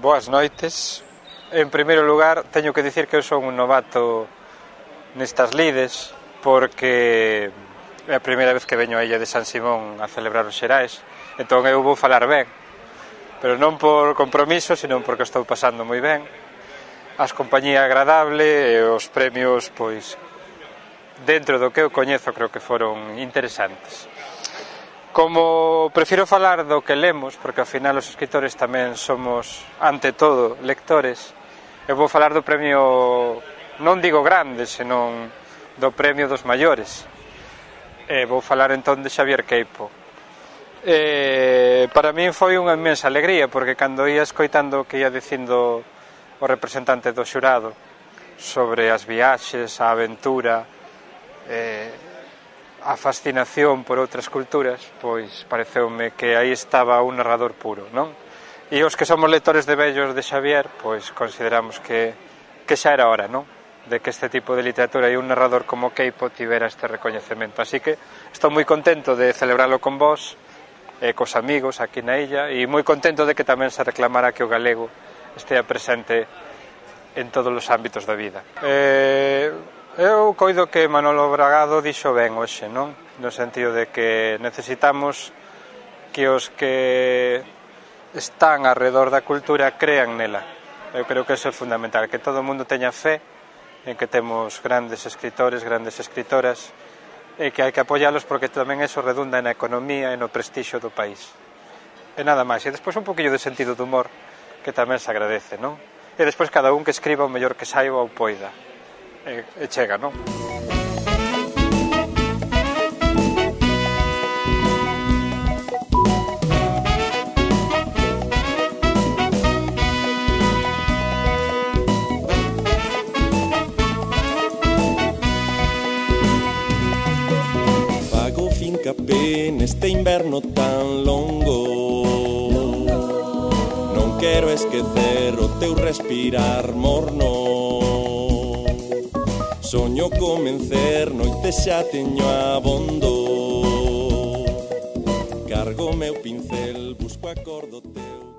Boas noites. En primeiro lugar, teño que dicir que eu son un novato nestas lides, porque é a primeira vez que veño a Illa de San Simón a celebrar os Xerais, entón eu vou falar ben, pero non por compromiso, sino porque estou pasando moi ben. As compañía agradable e os premios, pois, dentro do que eu coñezo, creo que foron interesantes. Como prefiro falar do que lemos, porque ao final os escritores tamén somos, ante todo, lectores, eu vou falar do premio, non digo grande, senón do premio dos maiores. Vou falar entón de Xavier Queipo. Para min foi unha inmensa alegría, porque cando ia escoitando o que ia dicindo o representante do xurado sobre as viaxes, a aventura, a fascinación por outras culturas, pois pareceume que aí estaba un narrador puro, non? E os que somos lectores de vellos de Xavier, pois consideramos que xa era hora, non? De que este tipo de literatura e un narrador como Queipo tivera este recoñecemento. Así que estou moi contento de celebralo con vós, cos amigos aquí na illa, e moi contento de que tamén se reclamara que o galego estea presente en todos os ámbitos da vida. Eu coido que Manolo Bragado dixo ben hoxe, non? No sentido de que necesitamos que os que están alrededor da cultura crean nela. Eu creo que eso é fundamental, que todo o mundo teña fe en que temos grandes escritores, grandes escritoras, e que hai que apoialos porque tamén eso redunda na economía e no prestixio do país. E nada máis. E despois un poquillo de sentido de humor, que tamén se agradece, non? E despois cada un que escriba o mellor que saiba ou poida. E chega, non? Fago fincapé neste inverno tan longo, non quero esquecer o teu respirar morno. Soño comencer, noite xa teño abondo. Cargo meu pincel, busco acordo teu.